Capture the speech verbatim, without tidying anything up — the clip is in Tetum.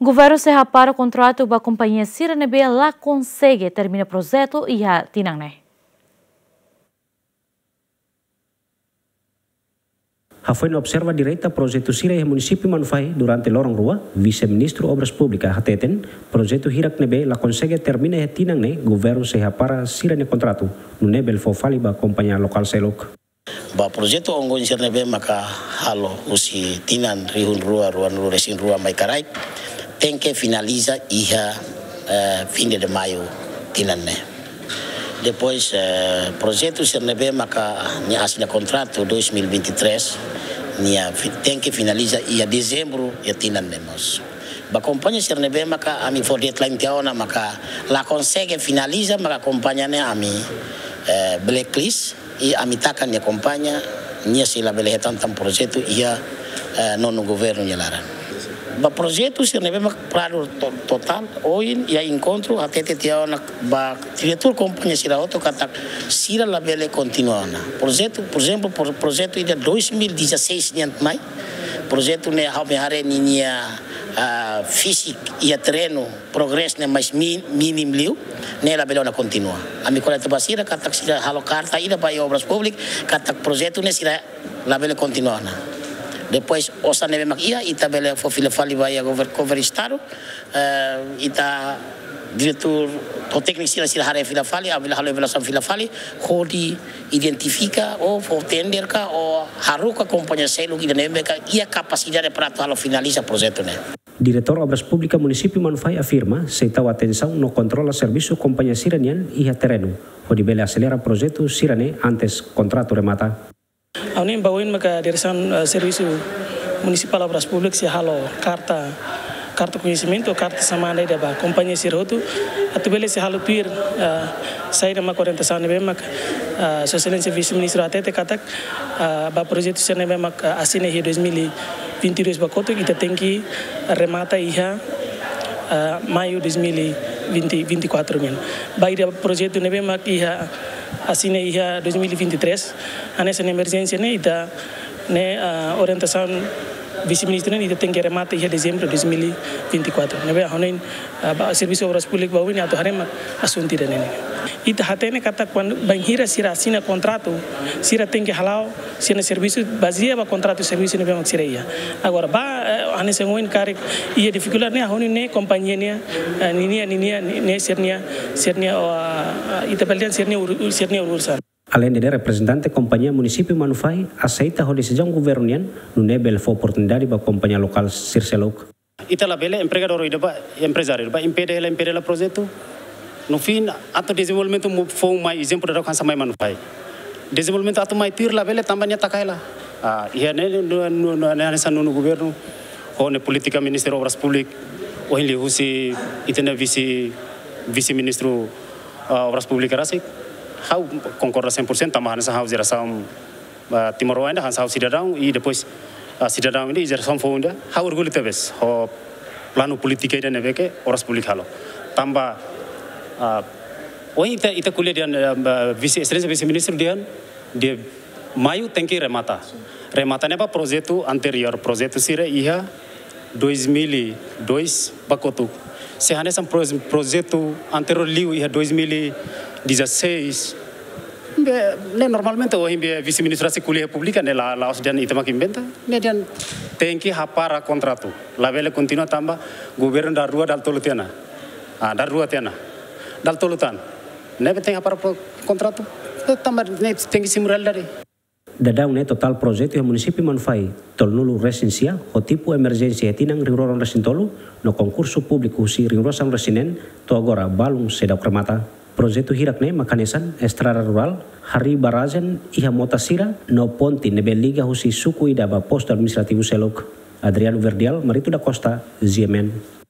Governu sei hapara kontratu ba kompañia sira ne'ebé la konsege termina projetu iha tinan ne'e. Hafoin observa direta projetu sira iha munisípiu Manufahi durante loron rua, Vise-Ministru Obras Públikas hateten, projetu hirak ne'ebé la konsege termina iha tinan ne'e, governu sei hapara sira-nia kontratu, nune'e bele fó fali ba kompañia lokál seluk. Ba projetu ongoing sira ne'ebé maka halo husi tinan rihun rua, ruanulu resin rua mai karaik, tenke finaliza iha, eh, fim de maio tinan ne'e. Depois, eh, projetu sira ne'ebé maka nia asina kontratu dois mil e vinte e três, nia fi-, tenke finaliza iha dezembru iha tinan ne'e mós. Ba kompañia sira ne'ebé maka ami fó deadline tiha ona maka la konsege finaliza, maka kompañia ne'e ami, eh, blacklist, i ami taka nia kompañia, nia sei labele hetan tan projetu iha, eh, nonu governu nia laran. Ba projetu sira ne'ebé mak paradu to-, totál, ohin iha enkontru hatete tiha ona ba diretór kompañia sira hotu katak sira labele kontinua ona. Projetu, por ezemplu, por, projetu ida dois mil e dezasseis nian mai, projetu ne'e ha'u-nia haree ninia, ah, fisik iha terrenu, progresu ne'e mais mi-, mínimu liu, ne'e labele ona kontinua. Ami ko'alia ba sira katak sira halo karta ida ba iha Obras Públikas katak projetu ne'e sira labele kontinua ona. Depois, osan ne'ebé mak iha, ita bele fó fila fali ba iha gover-, governu estadu, eh, ita diretór ho tékniku sira, sira haree fila fali, ami bele halo avaliasaun fila fali, hodi identifika ou fó tender ka ou haruka kompañia seluk ida ne'ebé ka iha kapasidade para atu halo finaliza projetu ne'e. Diretór Obras Públikas Munisípiu Manufahi afirma, sei tau atensaun no kontrola servisu kompañia sira-nian iha terrenu, hodi bele aselera projetu sira-ne'e antes kontratu remata. Ha'u-nia ba oin maka diresaun, eh, servisu munisipál Obras Públikas sei halo karta, karta koñesimentu, karta xamada ida ba kompañia sira hotu, atu bele sei halo tuir, eh, saida maka orientasaun ne'ebé maka, eh, Sua Exelénsia Vise-Ministru hatete katak, eh, ba projetu sira ne'ebé maka, eh, asina iha dois mil e vinte e dois ba kotuk, ita tenke remata iha, eh, maiu dois mil e vinte, vinte e quatro nian. Ba ida projetu ne'ebé maka iha asina iha dois mil e vinte e três, hanesan emerjénsia ne'e ita ne'e, ah, orientasaun Vise-Ministru ne'e ita tenke remata iha dezembru dois mil e vinte e quatro. Ne'ebé ha'u hanoin, ah, ba servisu Obras Públikas ba oin atu haree mak asuntu ida-ne'e. Ita hatene katak kuandu bainhira sira asina kontratu, sira tenke hala'o sira-nia servisu bazeia ba kontratu servisu ne'ebé mak sira iha. Agora ba, eh, hanesan oin karik iha difikuldade ne'e, ha'u hanoin ne'e kompañia ne'e, eh, ninia, ninia, ne'e sira-nia, sira-nia, oh, ah, ita bele dehan sira-nia ur-, sira-nia urusan. Aleinde ne'e, reprezentante kompañia munisípiu Manufahi aseita ho desizaun governu nian, nune'e bele fó oportunidade ba kompañia lokál sira seluk. Ita labele empregadór ida ba, emprezáriu ida ba, impede hela, impede hela projetu. No fim, atu dezenvolvimentu mu-, foun mai, ezemplu daudauk hanesan mai Manufahi. Dezenvolvimentu atu mai tuir labele tanba nia taka hela. Ah, iha ne'e, no, no, no, ne'e hanesan nonu governu, ho nia polítika Ministériu Obras Públikas, ohin liuhusi ita-nia vise, vise-ministru, ah, Obras Públikas rasik. Ha'u konkorda cem por cento, tanba hanesan ha'u jerasaun, ah, timoroan ida, hanesan ha'u sidadaun, i depois, ah, sidadaun ida, i jerasaun foun ida, ha'u orgullu tebes ho planu polítika ida ne'ebé ke Obras Públikas halo. Tanba, ah, ohin ita, ita ko'alia dehan, ah, Vise, Exelénsia Vise-Ministru dehan, dia maiu tenke remata. Remata ne'e ba projetu anteriór, projetu sira iha dois mil e dois ba kotuk. Se hanesan proje-, projetu anteriór liu iha dois mil e dezasseis. Be, ne'e normalmente ohin be vise-ministru sei ko'alia públiku ne'e la, la'ós dehan ita mak inventa. Ne'e dehan tenke hapara kontratu. Labele kontinua tanba governu dalarua, dalatolu tiha ona. Ah, dalarua tiha ona. Dalatolu tan. Ne'ebé tenke hapara pro-, kontratu. Eh, tanba ne'e tenke simu realidade. Daudaun ne'e totál projetu iha munisípiu Manufahi tolunulu resin sia, ho tipu emerjénsia iha tinan rihun rua ruanulu resin tolu, no konkursu públiku husi rihun rua sanulu resin neen, to'o agora balun seidauk remata. Projetu hirak ne'e mak hanesan estrada rurál, harii barrajen iha mota sira, no ponte ne'ebé liga husi suku ida ba postu administrativu seluk. Adriano Verdial, Marito da Costa, G M N.